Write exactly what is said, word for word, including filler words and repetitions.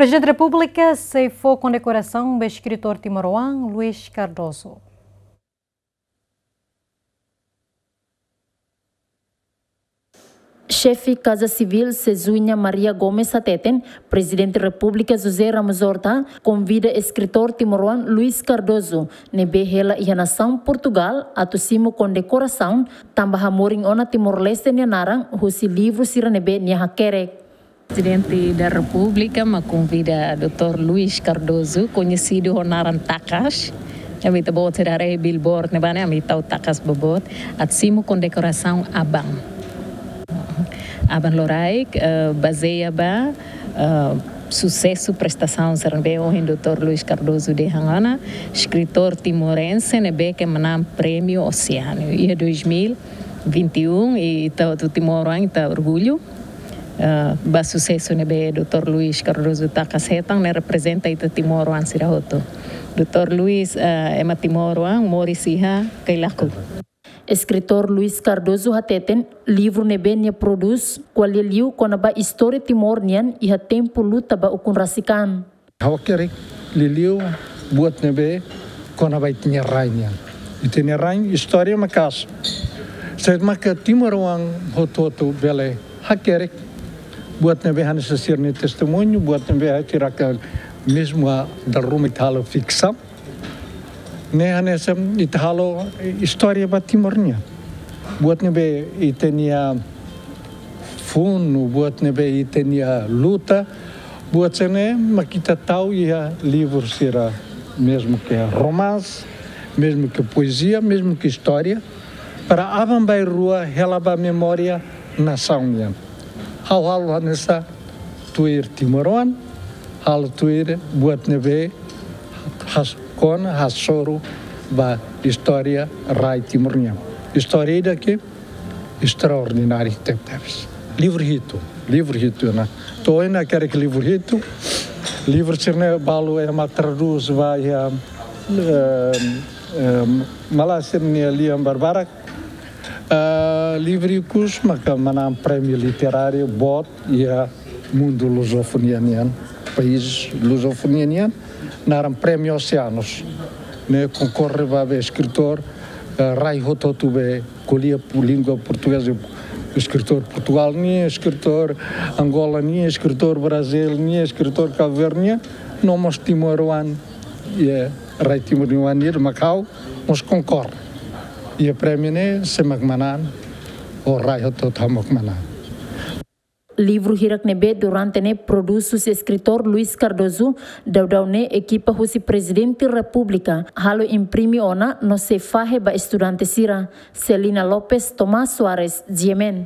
Prezidente Repúblika sei fó kondekorasaun ba eskritór timoroan Luís Cardoso. Xefe Kaza Sivíl Cezuña Maria Gomes hateten, Prezidente Repúblika José Ramos Horta konvida eskritór timoroan Luís Cardoso, ne'ebé hela iha nasaun Portugal, atu simu kondekorasaun, tanba hamorin ona Timor-Leste nia naran husi livru sira ne'ebé nia hakerek. Prezidente da Repúblika mak konvida doutór Luís Cardoso, koñesidu ho naran Takas. Ami ita-boot sira haree billboard ne'ebá ne'e, ami tau Takas ba boot, atu simu kondekorasaun aban. Aban loraik, eh, bazeia ba, eh, susesu prestasaun sira ne'ebé ohin doutór Luís Cardoso dehan ona, eskritór timorense ne'ebé ke manán Prémiu Oceano iha dois mil e vinte e um, i ita hotu timoroan ita orgullu, eh, ba susesu ne'ebé doutór Luís Cardoso Takas hetan, ne'e reprezenta ita timoroan sira hotu. Doutór Luís, eh, ema timoroan moris iha Cailaco. Eskritór Luís Cardoso hateten, livru ne'ebé nia prodús ko'alia liu kona-ba istória Timor nian iha tempu luta ba ukun rasik an. Ha'u hakerek liuliu buat ne'ebé kona-ba ita-nia rai nian. Ita-nia rai istória maka'as. Saida maka timoroan hotu-hotu bele hakerek buat ne'ebé hanesan sira-nia testemuñu, buat ne'ebé sira ke mezmu a dala ruma ita halo fiksaun. Ne'e hanesan ita halo istória ba Timor nian. Buat ne'ebé ita-nia funu, buat ne'ebé ita-nia luta, buat sira-ne'e mak ita tau iha livru sira, mezmu ke romanse, mezmu ke poezia, mezmu ke istória, para aban-bainrua hela ba memória nasaun nian. Ha'u halo hanesan tuir timoroan, halo tuir buat ne'ebé has-, kona hasoru ba istória rai Timor nian. Istória ida ke estraordináriu tebetebes. Livru hitu, livru hitu ona. To'o ohin hakerek livru hitu, livru sira-ne'e balu ema tradús ba iha, eh, eh, Malázia nia lian barbarak. Ah, livru ikus maka manán prémiu literáriu boot iha mundu luzofonia nian, país luzofonia nian, naran Prémiu Oceanos. Ne'e konkorre ba be eskritór, eh, rai hotu-hotu be ko'alia pu-, língua portugeza, eskritór Portugal nian, eskritór Angola nian, eskritór Brazíl nian, eskritór Cabo Verde nian, no mós timoroan, iha rai Timor nian, mak ha'u mós konkorre. Iha prémiu ne'e, sé mak manán, ou rai hotu-hotu mak manán. Livru hirak ne'ebé durante ne'e prodús husi eskritór Luís Cardoso, daudaun ne'e ekipa husi Prezidente Repúblika halo imprime ona no sei fahe ba estudante sira. Celina Lopes, Tomás Soares, G M N.